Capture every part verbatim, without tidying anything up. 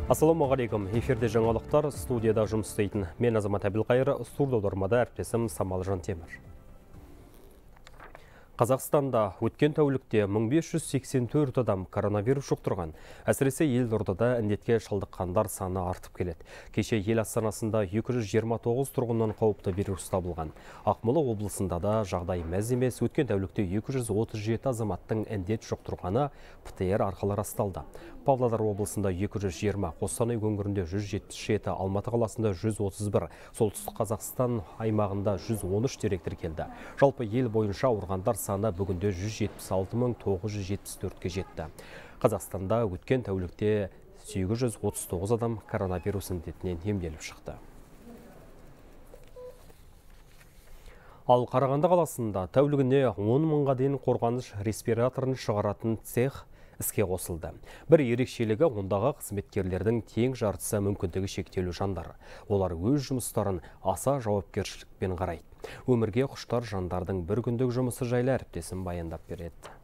Ассалаумағалейкум. Эфирде жаңалықтар, студияда жұмыс істейтін мен Азамат Әбілқайыр, студияда әріптесім Самалжан Темір. Қазақстанда өткен тәулікте мың бес жүз сексен төрт адам коронавирус жұқтырған. Әсіресе елордада індетке шалдыққандар саны артып келеді. Кеше ел астанасында екі жүз жиырма тоғыз тұрғыннан қауіпті вирус табылған. Ақмола облысында да жағдай мәз емес. Өткен тәулікте екі жүз отыз жеті азаматтың індет жұқтырғаны ПТР арқылы расталды. Павлодар облысында екі жүз жиырма, Қостанай өңірінде жүз жетпіс жеті, Алматы қаласында жүз отыз бір, Солтүстік Қазақстан аймағында жүз он үш дерек тіркелді. Жалпы ел бойынша ауырғандар саны бүгінде жүз жетпіс алты мың тоғыз жүз жетпіс төртке жетті. Қазақстанда өткен тәулікте сегіз жүз отыз тоғыз адам коронавирус індетінен емделіп шықты. Ал Қарағанды қаласында тәулігіне он мыңға дейін қорғаныш респираторын шығаратын цех іске қосылды. Бір ерекшелігі ондағы қызметкерлердің тең жартысы мүмкіндігі шектеулі жандар. Олар өз жұмыстарын аса жауапкершілікпен қарайды. Өмірге құштар жандардың бір күндік жұмысы жайлы әріптесім баяндап береді.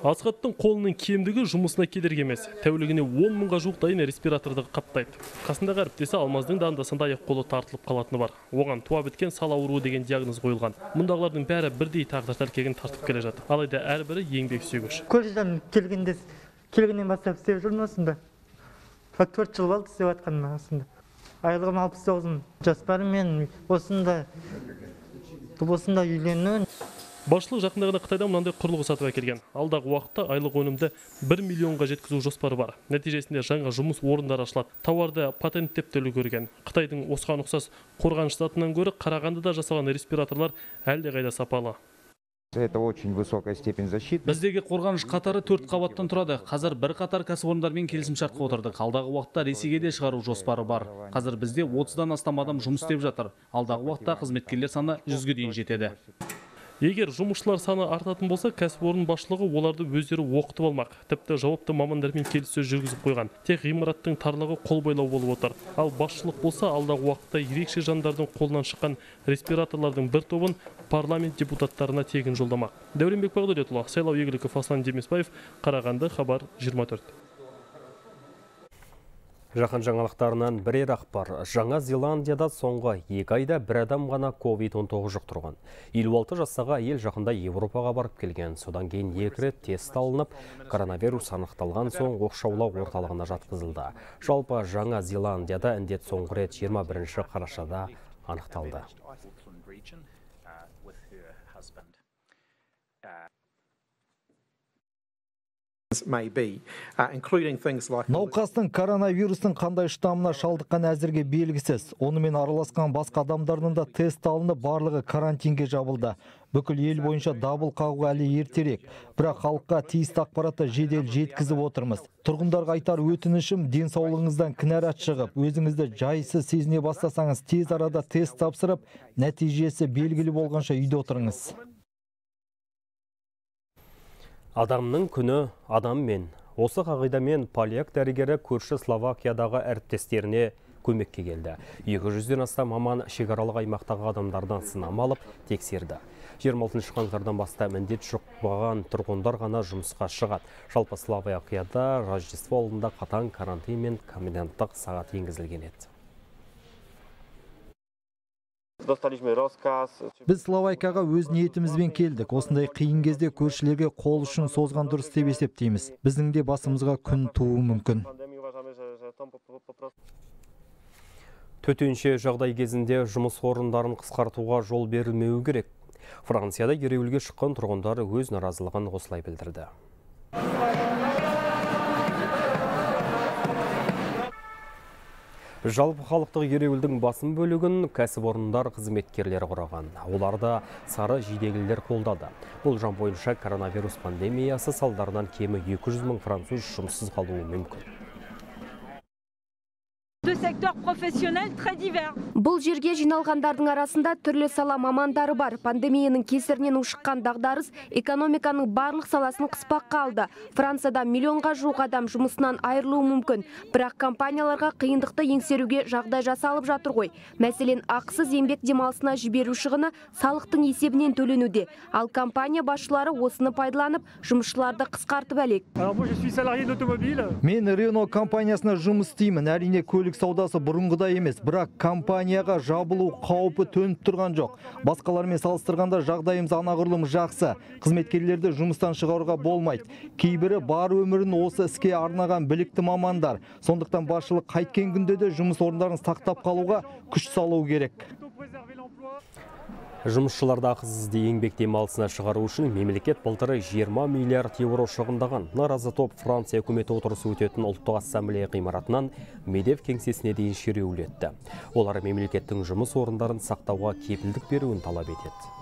Асхаттың қолының кемдігі жұмысына кедергі емес. Тәулігіне он мыңға жуық дайын респираторды қаптайды. Қасындағы әріптесі Алмаздың да анда-санда аяқ қолы тартылып қалатыны бар. Оған туа біткен сал ауруы деген диагноз қойылған. Мұндағылардың бәрі бірдей тағдыр тәлкегін тартып келе жатыр. Алайда әрбірі еңбек сүйгіш. Колледжден келгенде келгеннен бастап істеп жүрмін осында. төрт жыл болды істеп жатқаныма осында. Айлығым алпыс тоғыз мың. Жоспарым мен осында осында үйлену. Басшылық жақындағында Қытайдан мынандай құрылғы сатып әкелген. Алдағы уақытта айлық өнімді бір миллионға жеткізу жоспары бар. Нәтижесінде жаңа жұмыс орындары ашылады. Тауарды патенттеп те үлгерген. Қытайдың осыған ұқсас қорғаныш затынан гөрі Қарағандыда жасалған респираторлар әлдеқайда сапалы. Это очень высокая степень защиты. Біздегі қорғаныш қатары төрт қабаттан тұрады. Қазір бір қатар кәсіпорындармен келісімшартқа отырдық. Алдағы уақытта Ресейге де шығару жоспары бар. Қазір бізде отыздан астам адам жұмыс істеп жатыр. Алдағы уақытта қызметкерлер саны жүзге дейін жетеді. Егер жұмысшылар саны артатын болса, кәсіпорын басшылығы оларды өздері оқытып алмақ. Тіпті жауапты мамандармен келіссөз жүргізіп қойған. Тек ғимараттың тарлығы қол бойлау болып отыр. Ал басшылық болса, алдағы уақытта ерекше жандардың қолынан шыққан респираторлардың бір тобын парламент депутаттарына тегін жолдамақ. Дәуренбек Бағдәулетұлы, Сайлау Егіліков, Аслан Демесбаев, Қарағанды, Хабар жиырма төрт. Жақын жаңалықтарынан бірер ақпар. Жаңа Зеландияда соңғы екі айда бір адам ғана ковид он тоғыз жұқтырған. елу алты жастағы әйел жақында Европаға барып келген. Содан кейін екі рет тест алынып, коронавирус анықталған соң оқшаулау орталығына жатқызылды. Жалпы Жаңа Зеландияда індет соңғы рет жиырма бірінші қарашада анықталды. Науқастың коронавирустың қандай штаммына шалдыққан әзірге белгісіз. Онымен араласқан басқа адамдардың да тест алынып, барлығы карантинге жабылды. Бүкіл ел бойынша дабыл қағу әлі ертерек, бірақ халыққа тиісті ақпаратты жедел жеткізіп отырмыз. Тұрғындарға айтар өтінішім, денсаулығыңыздан кінәрат шығып, өзіңізді жайсыз сезіне бастасаңыз, тез арада тест тапсырып, нәтижесі белгілі болғанша үйде отырыңыз. Адамның күні адаммен. Осы қағидамен поляк дәрігері көрші Словакиядағы әріптестеріне көмекке келді. екі жүзден астам маман шекаралық аймақтағы адамдардан сынама алып тексерді. жиырма алтыншы қаңтардан бастап індет жұқпаған тұрғындар ғана жұмысқа шығады. Жалпы Словакияда Рождество алдында қатаң карантин мен коменданттық сағат енгізілген еді. Біз Словакияға өз ниетімізбен келдік. Осындай қиын кезде көршілерге қол ұшын созған дұрыс деп есептейміз. Біздің де басымызға күн туы мүмкін. Төтенше жағдай кезінде жұмыс орындарын қысқартуға жол берілмеуі керек. Францияда ереуілге шыққан тұрғындар өз наразылығын осылай білдірді. Жалпы халықтық ереуілдің басым бөлігін кәсіпорындар қызметкерлері құраған. Оларда сары жидегілер қолдады. Бұл жан бойынша коронавирус пандемиясы салдарынан кемі екі жүз мың француз жұмыссыз қалуы мүмкін. professionnels très divers. Бұл жерге жиналғандардың арасында түрлі сала мамандары бар. Пандемияның кесірінен ушыққан дағдарыс экономиканың барлық саласын қыспаққа алды. Францияда миллионға жуық адам жұмысынан айырылуы мүмкін. Бірақ компанияларға қиындықты еңсеруге жағдай жасалып жатыр ғой. Мәселен, ақысыз еңбек демалысына жіберу шығыны салықтың есебінен төленуде. Ал компания басшылары осыны пайдаланып, жұмысшыларды қысқартып әлек. Мен Рено компаниясына жұмыс істеймін. Әрине көлік саудасы бұрынғыдай емес, бірақ компанияға жабылу қаупі төніп тұрған жоқ. Басқалармен салыстырғанда жағдайымыз анағұрлым жақсы. Қызметкерлерді жұмыстан шығаруға болмайды. Кейбірі бар өмірін осы іске арнаған білікті мамандар. Сондықтан басшылық қайткен күнде де жұмыс орындарын сақтап қалуға күш салу керек. Жұмысшыларды ақысыз еңбек демалысына шығару үшін мемлекет былтыр жиырма миллиард еуро шығындаған. Наразы топ Франция үкіметі отырысы өтетін ұлттық ассамблея ғимаратынан Медев кеңсесіне дейін шеруілетті. Олар мемлекеттің жұмыс орындарын сақтауға кепілдік беруін талап етеді.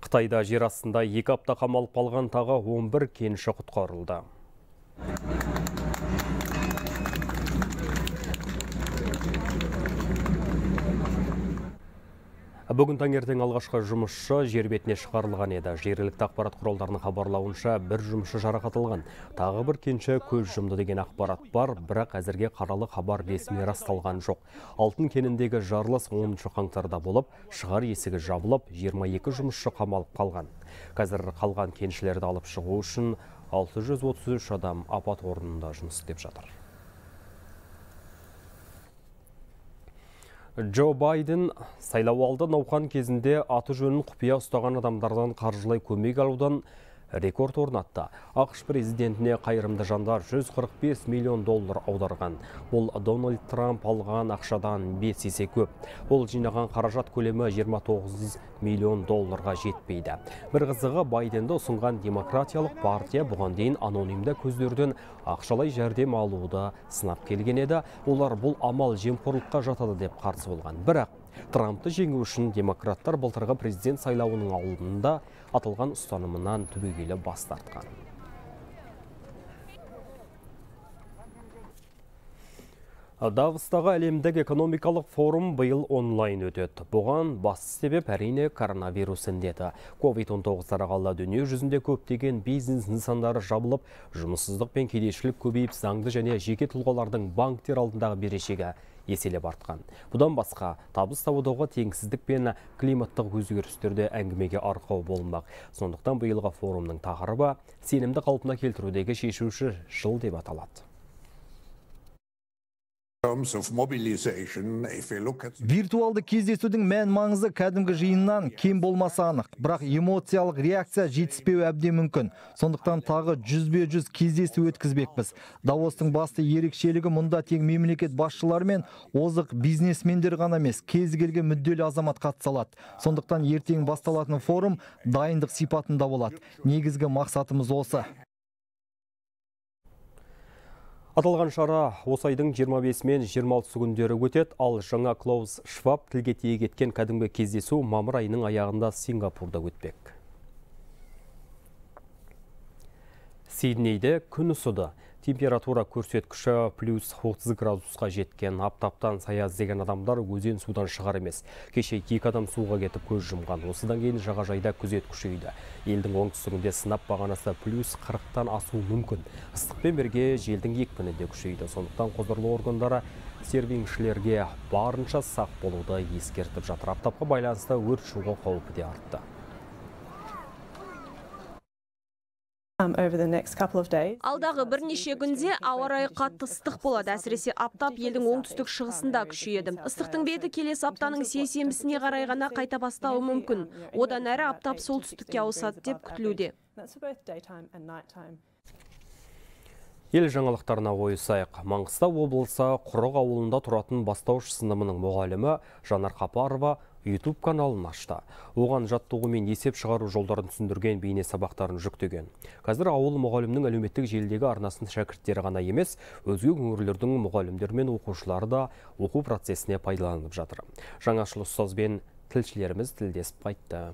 Қытайда жер астында екі апта қамалып қалған тағы он бір кенші құтқарылды. Бүгін таңертең алғашқы жұмысшы жер бетіне шығарылған еді. Жергілікті ақпарат құралдарының хабарлауынша бір жұмысшы жарақат алған. Тағы бір кенші көз жұмды деген ақпарат бар, бірақ әзірге қаралы хабар ресми расталған жоқ. Алтын кеніндегі жарылыс оныншы қаңтарда болып, шығар есігі жабылып, жиырма екі жұмысшы қамалып қалған. Қазір қалған кеншілерді алып шығу үшін алты жүз отыз үш адам апат орнында жұмыс істеп жатыр. Джо Байден сайлау алды науқан кезінде аты жөнін құпия ұстаған адамдардан қаржылай көмек алудан рекорд орнатты. ақш президентіне қайырымды жандар жүз қырық бес миллион доллар аударған. Бұл Дональд Трамп алған ақшадан бес есе көп. Ол жинаған қаражат көлемі жиырма тоғыз миллион долларға жетпейді. Бір қызығы, Байденді ұсынған демократиялық партия бұған дейін анонимді көздерден ақшалай жәрдем алуды сынап келген еді. Олар бұл амал жемқорлыққа жатады деп қарсы болған. Бірақ Трампты жеңу үшін демократтар былтырғы президент сайлауының алдында атылған ұстанымынан түбегейлі бас тартқан. Давостағы әлемдік экономикалық форум биыл онлайн өтеді. Бұған басты себеп әрине коронавирус індеті. ковид он тоғыз тарағалы дүние жүзінде көптеген бизнес нысандары жабылып, жұмыссыздық пен кедейшілік көбейіп, заңды және жеке тұлғалардың банктер алдындағы берешегі еселеп артқан. Бұдан басқа, табыс табудағы теңсіздік пен климаттық өзгерістерде әңгімеге арқау болмақ. Сондықтан биылғы форумның тақырыбы сенімді қалпына келтірудегі шешуші жыл деп аталады. Виртуалды кездесудің мән маңызы кәдімгі жиыннан кем болмаса анық, бірақ эмоциялық реакция жетіспеуі әбден мүмкін. Сондықтан тағы жүзбе жүз кездесу өткізбекпіз. Давостың басты ерекшелігі мұнда тек мемлекет басшылары мен озық бизнесмендер ғана емес, кез келген мүдделі азамат қатыса. Сондықтан ертең басталатын форум дайындық сипатында болады. Негізгі мақсатымыз осы. Аталған шара осы айдың жиырма бесі мен жиырма алтысы күндері өтеді, ал жаңа Клаус Шваб тілге тиек еткен кәдімгі кездесу мамыр айының аяғында Сингапурда өтпек. Сиднейде күн ысыды. Температура көрсеткіші плюс отыз градусқа жеткен. Аптаптан саяз деген адамдар өзен судан шығар емес. Кеше екі адам суға кетіп көз жұмған. Осыдан кейін жағажайда күзет күшейді. Елдің оңтүстігінде сынап бағанасы плюс қырықтан асуы мүмкін. Ыстықпен бірге желдің екпіні де күшейді. Сондықтан құзырлы органдары сервингшілерге барынша сақ болуды ескертіп жатыр. Аптапқа байланысты өрт шығу қаупі де артты. Алдағы бірнеше күнде ауа райы қатты ыстық болады. Әсіресе аптап елдің оңтүстік шығысында күшейеді. Ыстықтың беті келесі аптаның сейсенбісіне қарай ғана қайта бастауы мүмкін. Одан әрі аптап солтүстікке ауысады деп күтілуде. Ел жаңалықтарына ойысайық. Маңғыстау облысы Құрық ауылында тұратын бастауыш сыныбының мұғалімі Жанар Қапарова YouTube каналын ашты. Оған жаттығу мен есеп шығару жолдарын түсіндірген бейне сабақтарын жүктеген. Қазір ауыл мұғалімнің әлеуметтік желідегі арнасын шәкірттері ғана емес, өзге өңірлердің мұғалімдері мен оқушылары да оқу процесіне пайдаланып жатыр. Жаңашыл ұстазбен тілшілеріміз тілдесіп қайтты.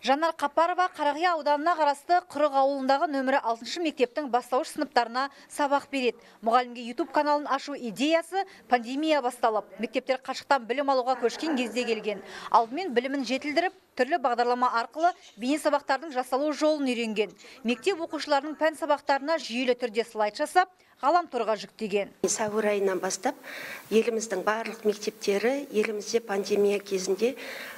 Жанар Қапарова Қарақия ауданына қарасты Құрық ауылындағы нөмірі алтыншы мектептің бастауыш сыныптарына сабақ береді. Мұғалімге YouTube каналын ашу идеясы пандемия басталып, мектептер қашықтан білім алуға көшкен кезде келген. Алдымен білімін жетілдіріп, түрлі бағдарлама арқылы бейне сабақтардың жасалу жолын үйренген. Мектеп оқушыларының пән сабақтарына жүйелі түрде слайд жасап, ғаламторға жүктеген. Сәуір айынан бастап еліміздің барлық мектептері елімізде пандемия кезінде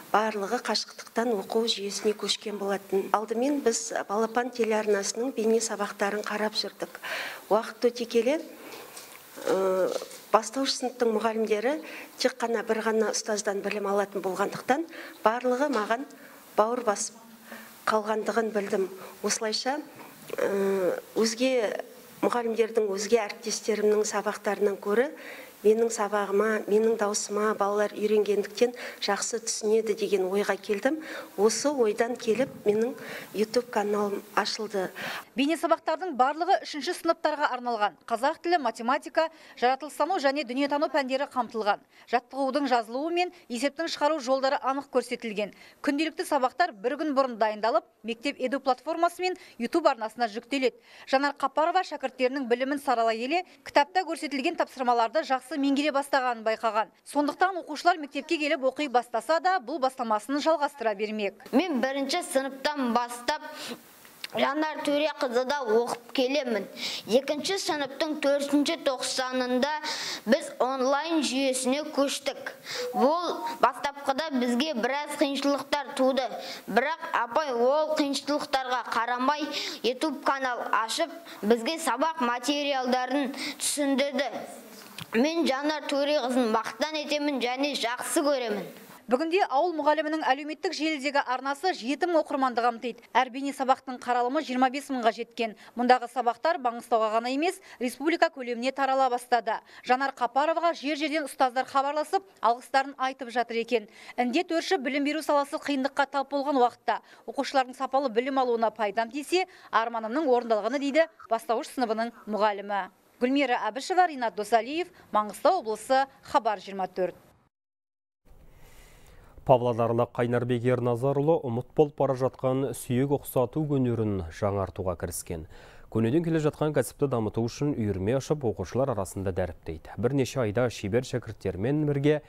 барлығы қашықтықтан оқу жүйесіне көшкен болатын. Алдымен біз Балапан телеарнасының бейне сабақтарын қарап жүрдік. Уақыт өте келе бастауыш сыныптың мұғалімдері тек қана бір ғана ұстаздан білім алатын болғандықтан барлығы маған бауыр басып қалғандығын білдім. Осылайша өзге мұғалімдердің өзге әріптестерімнің сабақтарынан көрі менің сабағыма, менің даусыма балалар үйренгендіктен жақсы түсінеді деген ойға келдім. Осы ойдан келіп, менің YouTube каналым ашылды. Бейне сабақтардың барлығы үшінші сыныптарға арналған. Қазақ тілі, математика, жаратылыстану және дүниетану пәндері қамтылған. Жаттығудың жазылуы мен есептің шығару жолдары анық көрсетілген. Күнделікті сабақтар бір күн бұрын дайындалып, мектеп еду платформасы мен YouTube арнасына жүктеледі. Жанар Қапарова шәкірттерінің білімін саралай келе, кітапта көрсетілген тапсырмаларды жақсы меңгере бастағанын байқаған. Сондықтан оқушылар мектепке келіп оқи бастаса да, бұл бастамасын жалғастыра бермек. Мен бірінші сыныптан бастап Жанар Төреқызыда оқып келемін. Екінші сыныптың төртінші тоқсанында біз онлайн жүйесіне көштік. Бұл бастапқыда бізге біраз қиыншылықтар туды. Бірақ апай ол қиыншылықтарға қарамай YouTube канал ашып, бізге сабақ материалдарын түсіндірді. Мен Жанар Төреқызын мақтан етемін және жақсы көремін. Бүгінде ауыл мұғалімінің әлеуметтік желідегі арнасы жеті мың оқырманды қамтиды. Әр бейне сабақтың қаралымы жиырма бес мыңға жеткен. Мұндағы сабақтар Маңғыстауға ғана емес, республика көлеміне тарала бастады. Жанар Қапароваға жер-жерден ұстаздар хабарласып, алғыстарын айтып жатыр екен. Індет өрші білім беру саласы қиындыққа тап болған уақытта оқушылардың сапалы білім алуына пайдам тисе, арманымның орындалғаны дейді бастауыш сыныбының мұғалімі. Гүлмира Әбішева, Ринат Досалиев, Маңғыстау облысы, Хабар жиырма төрт. Павлодарлық Қайнарбек Ерназарұлы ұмыт болып бара жатқан сүйек ұқсату өнерін жаңартуға кіріскен. Көнеден келе жатқан кәсіпті дамыту үшін үйірме ашып, оқушылар арасында дәріптейді. Бірнеше айда шебер шәкірттермен бірге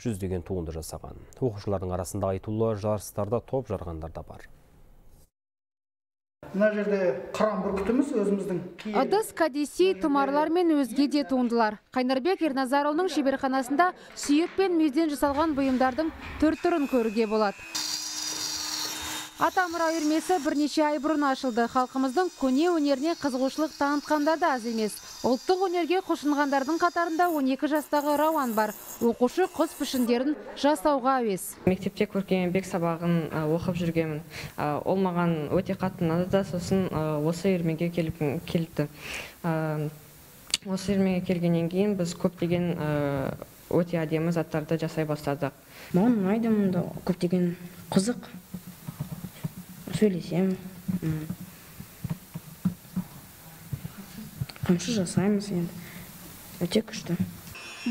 жүздеген туынды жасаған. Оқушылардың арасында айтулы жарыстарда топ жарғандар да бар. Мына жерде қыран бүркітіміз өзіміздің. Ыдыс, кәдесей, тұмарлар мен өзге де туындылар. Қайнарбек Ерназарұлының шеберханасында сүйек пен мүйізден жасалған бұйымдардың түр түрін көруге болады. Атамұра үйірмесі бірнеше ай бұрын ашылды. Халқымыздың көне өнеріне қызығушылық танытқандар да аз емес. Ұлттық өнерге құлшынғандардың қатарында он екі жастағы Рауан бар. Оқушы құс пішіндерін жасауға әуес. Мектепте көркемдік сабағын оқып жүргенмін. Ол маған өте қатты ұнады да, сосын осы үйірмеге келіп келді. Осы үйірмеге келгеннен кейін біз көптеген өте әдемі заттарды жасай бастадық. Маған ұнайды, мұнда көптеген қызық. Сөйлесем, қамшы жасаймыз енді, өте күшті.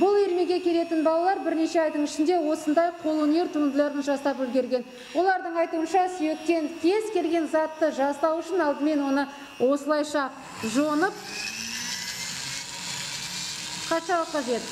Бұл үйірмеге келетін балалар бірнеше айдың ішінде осындай қолөнер туындыларын жасап үлгерген. Олардың айтуынша сүйектен кез келген затты жасау үшін алдымен оны осылайша жонып қашау қажет.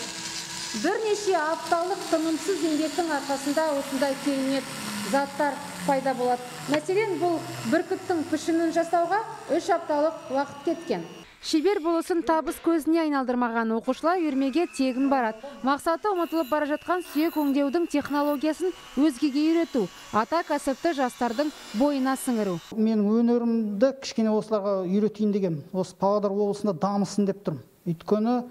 Бірнеше апталық тынымсыз еңбектің арқасында осындай керемет заттар пайда болады. Мәселен, бұл бүркіттің пішінін жасауға үш апталық уақыт кеткен. Шебер болысын табыс көзіне айналдырмаған оқушылар үйірмеге тегін барады. Мақсаты ұмытылып бара жатқан сүйек өңдеудің технологиясын өзгеге үйрету, ата кәсіпті жастардың бойына сіңіру. Мен өнерімді кішкене осыларға үйретейін деген, осы Павлодар облысында дамысын деп тұрмын. Өйткені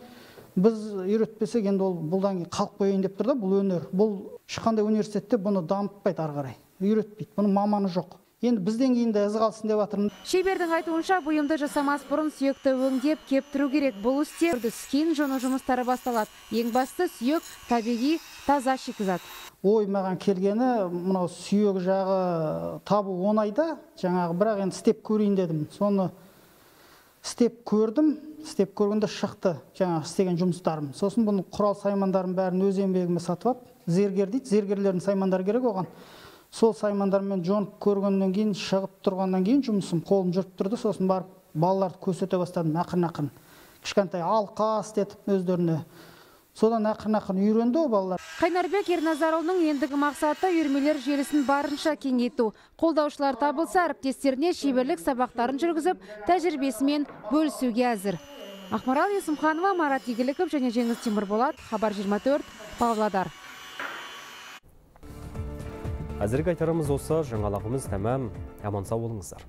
біз үйретпесек, енді ол бұлдан кейін қалып қояйын деп тұр да, бұл өнер. Бұл ешқандай университетте бұны дамытпайды ары қарай. Үйретпейді. Бұның маманы жоқ. Енді бізден кейін де із қалсын деп жатырмын. Шебердің айтуынша бұйымды жасамас бұрын сүйекті өңдеп, кептіру керек. Бұл істе кен жону жұмыстары басталады. Ең басты сүйек табиғи таза шикізат. Ой, маған келгені, мынау сүйек жағы табу оңайда, жаңағы бірақ енді істеп көрейін дедім. Соны істеп көрдім, істеп көргенде шықты жаңағы істеген жұмыстарым. Сосын бұның құрал саймандарын бәрін өз еңбегіме сатып алып, зергер дейді, зергерлердің саймандары керек оған. сол саймандармен жонып көргеннен кейін, шығып тұрғаннан кейін жұмысым қолым жүріп тұрды. Сосын барып балаларды көрсете бастадым ақырын-ақырын. Кішкентай алқа істетіп өздеріне. Содан ақырын-ақырын үйренді ол балалар. Қайнарбек Ерназарұлының ендігі мақсаты үйірмелер желісін барынша кеңейту. Қолдаушылар табылса, әріптестеріне шеберлік сабақтарын жүргізіп, тәжірибесімен бөлісуге әзір. Ақмарал Есімханова, Марат Игіліков және Жеңіс Темірболат, Хабар жиырма төрт, Павлодар. Әзірге айтарымыз осы, жаңалығымыз тәмам. Аман сау болыңыздар.